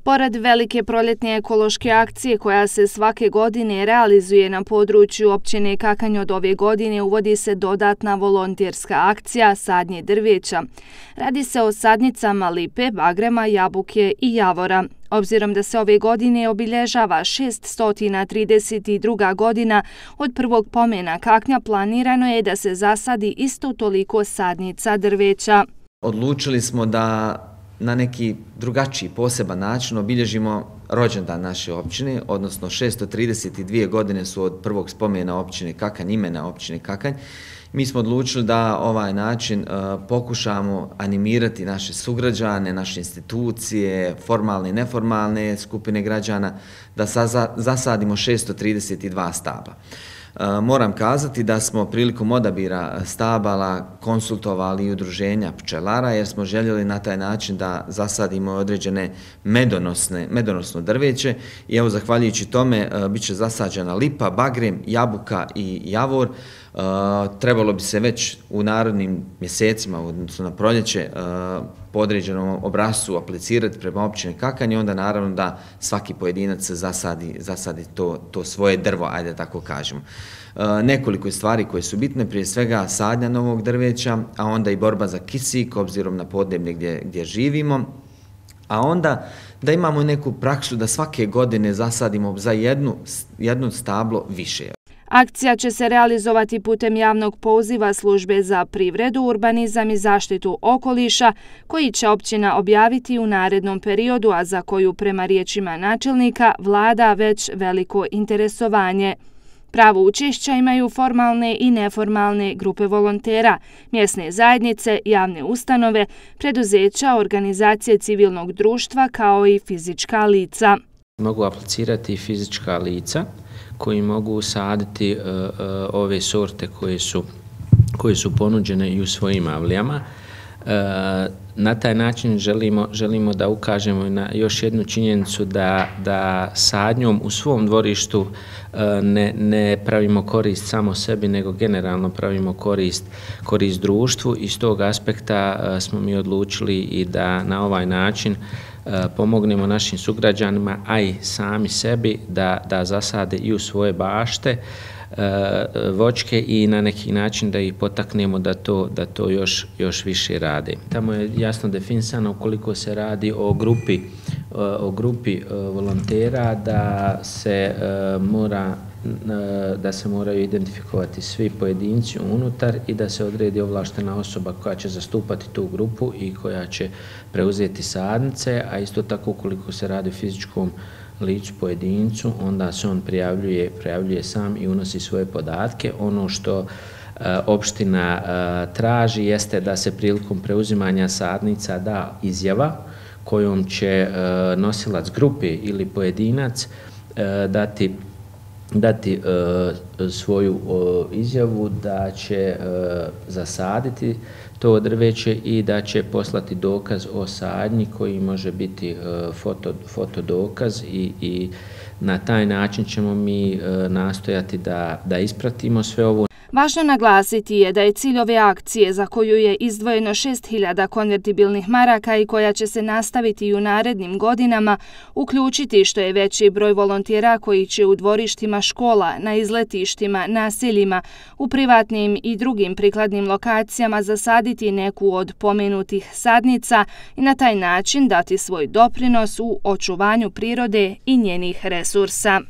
Pored velike proljetne ekološke akcije koja se svake godine realizuje na području općine Kakanj, od ove godine uvodi se dodatna volonterska akcija sadnje drveća. Radi se o sadnicama lipe, bagrema, jabuke i javora. Obzirom da se ove godine obilježava 632. godina od prvog pomena Kaknja, planirano je da se zasadi isto toliko sadnica drveća. Odlučili smo da na neki drugačiji, poseban način obilježimo rođendan naše općine, odnosno 632 godine su od prvog spomena općine Kakanj, imena općine Kakanj. Mi smo odlučili da ovaj način pokušamo animirati naše sugrađane, naše institucije, formalne i neformalne skupine građana, da zasadimo 632 stabla. Moram kazati da smo prilikom odabira stabala konsultovali i udruženja pčelara, jer smo željeli na taj način da zasadimo određene medonosno drveće i evo, zahvaljujući tome bit će zasađena lipa, bagrem, jabuka i javor. Trebalo bi se već u narednim mjesecima, odnosno na proljeće, po određenom obrascu aplicirati prema općini Kakanj i onda naravno da svaki pojedinac zasadi to svoje drvo, ajde tako kažemo. Nekoliko stvari koje su bitne, prije svega sadnja novog drveća, a onda i borba za kisik, obzirom na podneblje gdje živimo, a onda da imamo neku praksu da svake godine zasadimo za jedno stablo više. Akcija će se realizovati putem javnog poziva Službe za privredu, urbanizam i zaštitu okoliša, koji će općina objaviti u narednom periodu, a za koju, prema riječima načelnika, vlada već veliko interesovanje. Pravo učešća imaju formalne i neformalne grupe volontera, mjesne zajednice, javne ustanove, preduzeća, organizacije civilnog društva kao i fizička lica. Mogu aplicirati fizička lica koji mogu saditi ove sorte koje su ponuđene i u svojim avlijama. Na taj način želimo da ukažemo na još jednu činjenicu da sadnjom u svom dvorištu ne pravimo korist samo sebi, nego generalno pravimo korist društvu. Iz tog aspekta smo mi odlučili i da na ovaj način pomognemo našim sugrađanima, a i sami sebi da zasade i u svoje bašte voćke i na neki način da ih potaknemo da to još više rade. Tamo je jasno definisano ukoliko se radi o grupi volontera da se moraju identifikovati svi pojedinci unutar i da se odredi ovlaštena osoba koja će zastupati tu grupu i koja će preuzeti sadnice, a isto tako ukoliko se radi o fizičkom licu pojedincu, onda se on prijavljuje sam i unosi svoje podatke. Ono što opština traži jeste da se prilikom preuzimanja sadnica da izjava kojom će nosilac grupe ili pojedinac dati svoju izjavu da će zasaditi to drveće i da će poslati dokaz o sadnji koji može biti fotodokaz i na taj način ćemo mi nastojati da ispratimo sve ovo. Važno naglasiti je da je cilj ove akcije, za koju je izdvojeno 6.000 konvertibilnih maraka i koja će se nastaviti i u narednim godinama, uključiti što je veći broj volontera koji će u dvorištima škola, na izletištima, naseljima, u privatnim i drugim prikladnim lokacijama zasaditi neku od pomenutih sadnica i na taj način dati svoj doprinos u očuvanju prirode i njenih resursa.